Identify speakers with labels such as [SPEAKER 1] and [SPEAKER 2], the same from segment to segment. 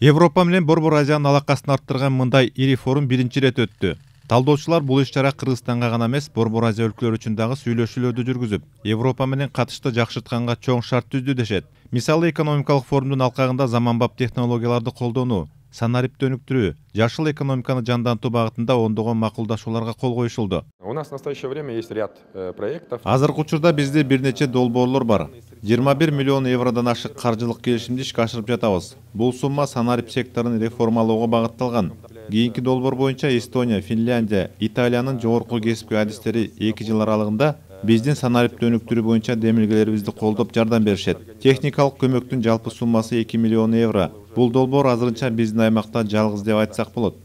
[SPEAKER 1] Европа менен Борбор Азиянын алакасын арттырган мындай ири форум биринчи ирет өттү. Талдоочулар бул иш-чара Кыргызстанга гана эмес, Борбор Азия өлкөлөрү үчүн дагы сүйлөшүүлөрдү жүргүзүп, Европа менен катышты жакшыртканга чоң шарт түздү дешет. Мисалы, экономикалык форумдун алкагында заманбап технологияларды колдонуу, санарипти өнүктүрүү, жашыл экономиканы жандантуу багытында ондогон макулдашууларга кол коюшулду.
[SPEAKER 2] У нас в настоящее время есть ряд проектов.
[SPEAKER 1] Азыркы учурда бизде бир нече долбоорлор бар. 21 миллион евродон ашык каржылык келишимди ишке ашырып жатабыз. Бул сумма санарип секторун реформалоого багытталган. Кийинки долбоор боюнча Эстония, Финляндия, Италиянын жогорку кесипки адистери 2 жыл аралыгында биздин санарипти өнүктүрүү боюнча демилгелерибизди колдоп жардам беришет. Техникалык көмөктүн жалпы суммасы 2 миллион евро. Бул долбоор азырынча биздин аймакта жалгыз деп айтсак болот.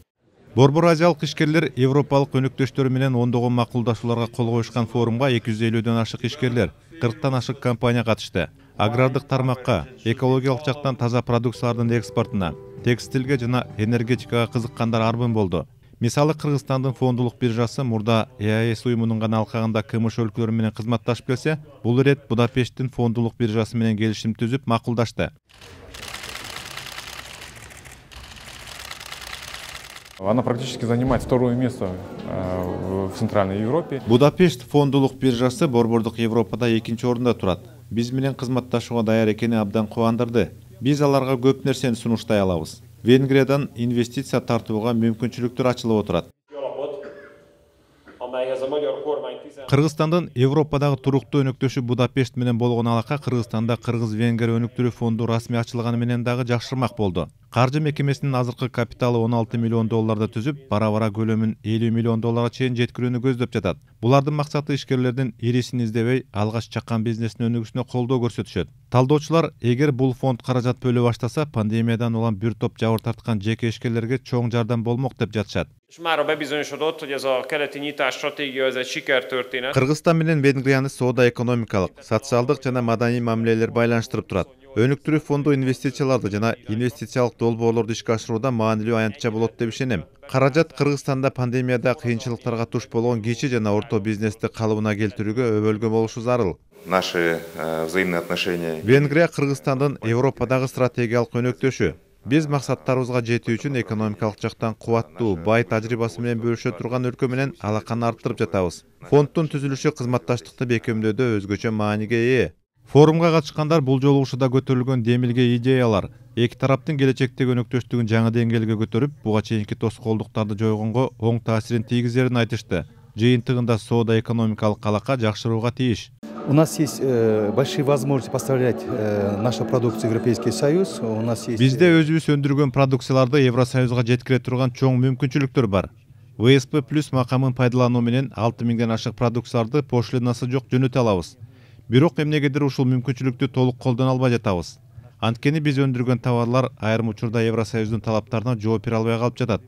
[SPEAKER 1] Борбор Азиялык ишкерлер Европалык өнөктөштөрү менен ондогон макулдашууларга кол коюшкан форумга 250дөн ашык ишкерлер, 40тан ашык компания катышты. Агрардык тармакка, экологиялык жактан таза продукциялардын экспортуна, текстилге жана энергетикага кызыккандар арбын болду. Мисалы, Кыргызстандын фондулук биржасы мурда ЕАЭС уюмунун гана алкагында КМШ өлкөлөрү менен кызматташып келсе, бул ирет Будапешттин фондулук биржасы менен келишим түзүп макулдашты.
[SPEAKER 2] Она практически занимает второе место в Центральной Европе.
[SPEAKER 1] Будапешт фондулук биржасы борбордук Европада 2-нчи орунда турат. Биз менен кызматташууга даяр экени абдан кубандырды. Биз аларга көп нерсени сунуштай алабыз. Венгриядан инвестиция тартууга мүмкүнчүлүктөр ачылып отурат. Кыргызстандын Европадагы туруктуу өнөктөшү Будапешт менен болгон алака Кыргызстанда Кыргыз-Венгер өнүктүрүү фонду расмий ачылганы менен дагы жакшырмак болду. Каржы мекемесинин азыркы капиталы 16 миллион долларды түзүп, бара-бара көлөмүн 50 миллион долларга чейин жеткирүүнү көздөп жатат. Булардын максаты ишкерлердин ирисин издебей, алгач чаккан бизнестин өнүгүшүнө колдоо көрсөтүшөт. Талдоочулар, эгер бул фонд каражат бөлө баштаса, пандемиядан улам бир топ жабыр тарткан жеке ишкерлерге чоң жардам болмок деп жатышат. Кыргызстан менен Венгрияны соода экономикалык, социалдык жана маданий мамилелер байланыштырып турат. Өнүктүрүү фонду инвестицияларды жана инвестициялык долбоорлорду ишке ашырууда маанилүү аянтча болот деп ишенем. Каражат Кыргызстанда пандемияда кыйынчылыктарга туш болгон кичи жана орто бизнести калыбына келтирүүгө өбөлгө болушу зарыл.
[SPEAKER 2] Наши взаимные отношения.
[SPEAKER 1] Венгрия Кыргызстандын Европадагы стратегиялык өнөктөшү. Биз максаттарыбызга жетүү үчүн экономикалык жактан кубаттуу, бай тажрыйбасы менен бөлүшө турган өлкө менен алаканы арттырып жатабыз. Фонддун түзүлүшү кызматташтыкты бекемдөөдө өзгөчө мааниге ээ. Форумга катышкандар бул жолу ушуда көтөрүлгөн демилге идеялар эки тараптын келечектеги өнөктөштүгүн жаңы деңгээлге көтөрүп, буга чейинки тоскоолдуктарды жойгонго оң таасирин тийгизерин айтышты. Жыйынтыгында соода экономикалык алака жакшырууга тийиш.
[SPEAKER 3] У нас есть большие возможности поставлять нашу продукцию в Европейский Союз. У нас есть...
[SPEAKER 1] Бизде өзүбүз өндүргөн продукцияларды Евросоюзга жеткире турган чоң мүмкүнчүлүктөр бар. ВСП плюс макамын пайдалануу менен 6000ден ашык продукцияларды пошлинасы жок жөнөтө алабыз. Бирок эмнегедир ушул мүмкүнчүлүктү толук колдоно албай жатабыз. Анткени биз өндүргөн товарлар айрым учурда Евросоюздун талаптарына жооп бере албай калып жатат.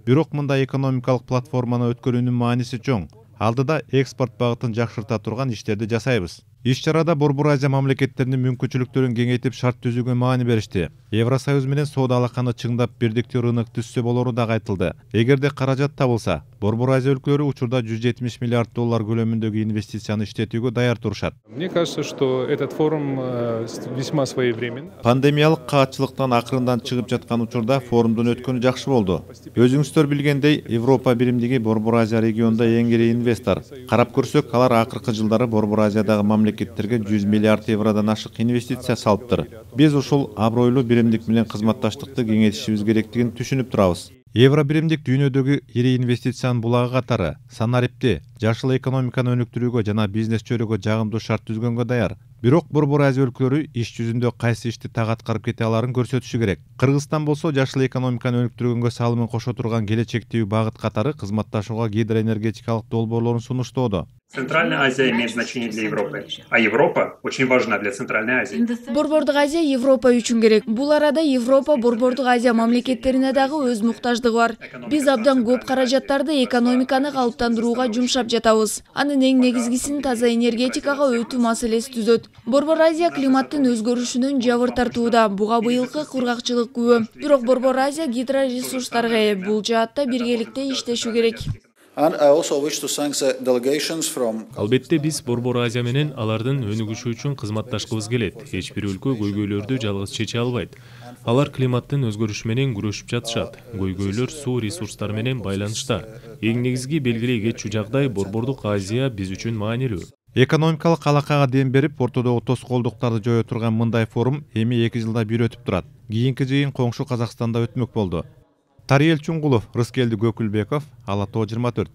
[SPEAKER 1] Бирок мындай экономикалык платформаны өткөрүүнүн мааниси чоң. Алдыда экспорт багытын жакшырта турган иштерди жасайбыз. Иш-чарада Борбор Азия мамлекеттеринин мүмкүнчүлүктөрүн кеңейтип шарт түзүүгө маани беришти. Евросоюз менен соода алаканы чыңдап бирдиктүү рынок түзсө болору дагы айтылды. Эгерде каражат табылса, Борбор Азия өлкөлөрү учурда 170 миллиард доллар көлөмүндөгү инвестицияны иштетүүгө даяр турушат.
[SPEAKER 2] Мне кажется, что этот форум весьма своевременный.
[SPEAKER 1] Пандемиялык каатчылыктан акырындан чыгып жаткан учурда форумдун өткөнү жакшы болду. Өзүңүздөр билгендей, Европа биримдиги Борбор Азия регионунда эң ири инвестор. Карап көрсөк, алар акыркы жылдары Борбор Азиядагы мамлекеттерге 100 миллиард евродон ашык инвестиция салыптыр. Биз ушул абройлуу биримдик менен кызматташтыкты кеңейтишибиз керектигин түшүнүп турабыз. Евро биримдик дүйнөдөгү ири инвестициянын булагы катары санарипти, жашыл экономиканы өнүктүрүүгө жана бизнес чөйрөгө жагымдуу шарт түзгөнгө даяр. Бирок Борбор Азия өлкөлөрү иш жүзүндө кайсы ишти так аткарып кете аларын көрсөтүшү керек. Кыргызстан болсо жашыл экономиканы өнүктүргөнгө салымын кошо турган келечектеги багыт катары кызматташууга гидроэнергетикалык долбоорлорун сунуштоодо.
[SPEAKER 4] Центральная Азия имеет значение для Европы, а Европа очень важна для Центральной Азии.
[SPEAKER 5] Борбордук Азия Европа үчүн керек. Бул арада Европа Борбордук Азия мамлекеттерине дагы өз муктаждыгы бар. Биз абдан көп каражаттарды экономиканы калыптандырууга жумшап жатабыз. Анын эң негизгисин таза энергетикага өтүү маселеси түзөт. Борбор Азия климаттын өзгөрүшүнөн жабыр тартууда. Буга быйылкы кургакчылык күбө. Бирок Борбор Азия гидроресурстарга ээ. Бул жаатта биргеликте иштешүү керек.
[SPEAKER 6] Албетте биз Борбор Азия менен алардын өнүгүшү үчүн кызматташкыбыз келет. Эч бир өлкө көйгөйлөрдү жалгыз чече албайт. Алар климаттын өзгөрүшү менен күрөшүп жатышат. Көйгөйлөр суу ресурстары менен байланышта. Эң негизги белгилей кетчү жагдай Борбордук Азия биз үчүн маанилүү.
[SPEAKER 1] Экономикалык алакага дем берип, ортодогу тоскоолдуктарды жое турган мындай форум эми 2 жылда бир өтүп турат. Кийинки жыйын коңшу Казакстанда өтмөк болду. Тариел Чуңгулов, Рыскелди Көкүлбеков, Ала Тоо 24.